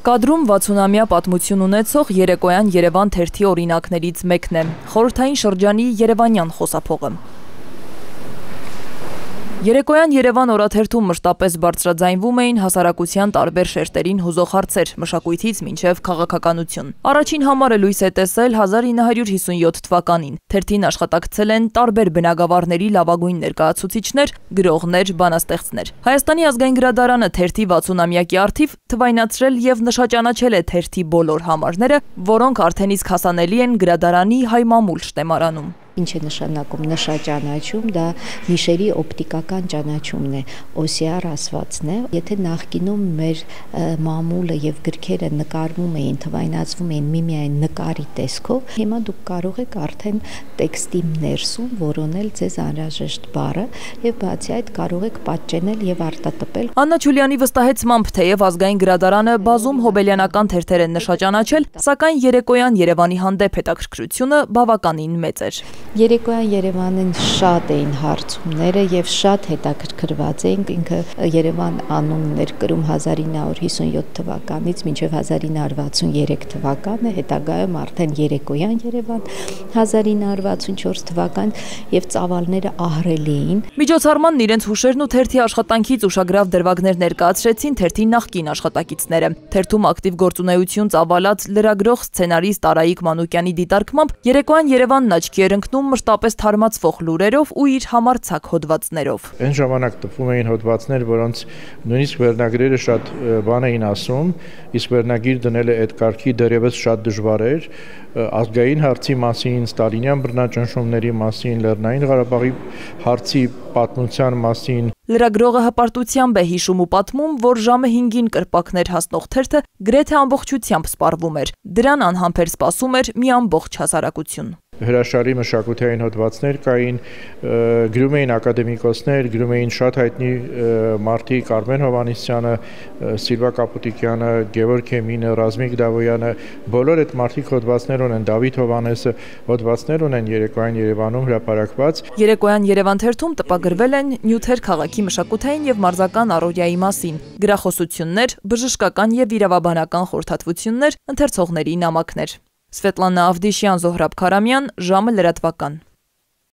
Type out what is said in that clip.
Կադրում 60-ամյա պատմություն ունեցող երեկոյան Երևան թերթի օրինակներից մեկն է, խորհրդային շրջանի երևանյան խոսափողը։ Երեկոյան Երևան օրաթերթում մշտապես բարձրաձայնվում էին հասարակության տարբեր շերտերին հուզող հարցեր, մշակույթից մինչև քաղաքականություն։ Առաջին համարը լույս է տեսել 1957 թվականին։ Թերթին աշխատակցել են տարբեր բնագավառների լավագույն ներկայացուցիչներ, գրողներ, բանաստեղծներ։ Հայաստանի ազգային գրադարանը թերթի 60-ամյակի առթիվ թվայնացրել եւ նշաճանաչել է թերթի բոլոր համարները, որոնք արդեն իսկ հասանելի են գրադարանի հայ մամուլ շտեմարանում։ Ինչ է նշանակում նշաճանաչում, դա նիշերի օպտիկական ճանաչումն է, OCR ասվածն է։ Եթե նախկինում մեր մամուլը եւ գրքերը նկարվում էին, թվայնացվում էին միմիայն նկարի տեսքով, հիմա դուք կարող եք արդեն տեքստի ներսում որոնել ձեզ անհրաժեշտ բառը եւ բացի այդ կարող եք պատճենել եւ արտատպել։ Աննա Չուլյանի վստահեցմամբ, թեև ազգային գրադարանը բազում հոբելյանական թերթեր են նշաճանաչել, սակայն երեկոյան Երևանի հանդեպ հետաքրքրությունը բավականին մեծ էր։ Երեկոյան Երևանին շատ էին հարցումները եւ շատ հետաքրքրված էինք, ինքը Երևան անունն էր կրում 1957 թվականից մինչև 1963 թվականը, հետագայում արդեն երեկոյան Երևան 1964 թվական եւ ծավալները ահռելի էին։ Միջոցառմանն իրենց հուշերն ու թերթի աշխատանքից ուշագրավ դրվագներ ներկայացրեցին թերթի նախկին աշխատակիցները։ Թերթում ակտիվ գործունեություն ծավալած լրագրող սցենարիստ Արայիկ Մանուկյանի դիտարկմամբ երեկոյան Երևանն աչքի էր ընկնում մշտապես թարմացվող լուրերով ու իր համարձակ հոդվածներով։ Այն ժամանակ տպվում էին հոդվածներ, որոնց նույնիսկ վերնագրերը շատ բան էին ասում, իսկ վերնագիր դնելը այդ կարգի դեռևս շատ դժվար էր, ազգային հարցի մասին, ստալինյան բռնաճնշումների մասին, Լեռնային Ղարաբաղի հարցի պատմության մասին։ Լրագրողը հպարտությամբ է հիշում ու պատմում, որ ժամը 5-ին կրպակներ հասնող թերթը գրեթե ամբողջությամբ սպառվում էր։ Դրան անհամբեր սպասում էր մի ամբողջ հասարակություն։ Հրաշալի մշակութային հոդվածներ կային, գրում էին ակադեմիկոսներ, գրում էին շատ հայտնի մարդիկ, Արմեն Հովհաննիսյանը, Սիլվա Կապուտիկյանը, Գևորգ Էմինը, Ռազմիկ Դավոյանը, բոլոր այդ մարդիկ հոդվածներ ունեն, Դավիթ Հովհաննեսը հոդվածներ ունեն երեկոյան Երևանում հրապարակված։ Երեկոյան Երևան թերթում տպագրվել են նյութեր քաղաքի մշակութային եւ մարզական առօրյայի մասին, գրախոսություններ, բժշկական եւ իրավաբանական խորհրդատվություններ, ընթերցողների նամակներ։ Սվետլանա Ավդիշյան, Զոհրաբ Քարամյան, ժամը լրատվական։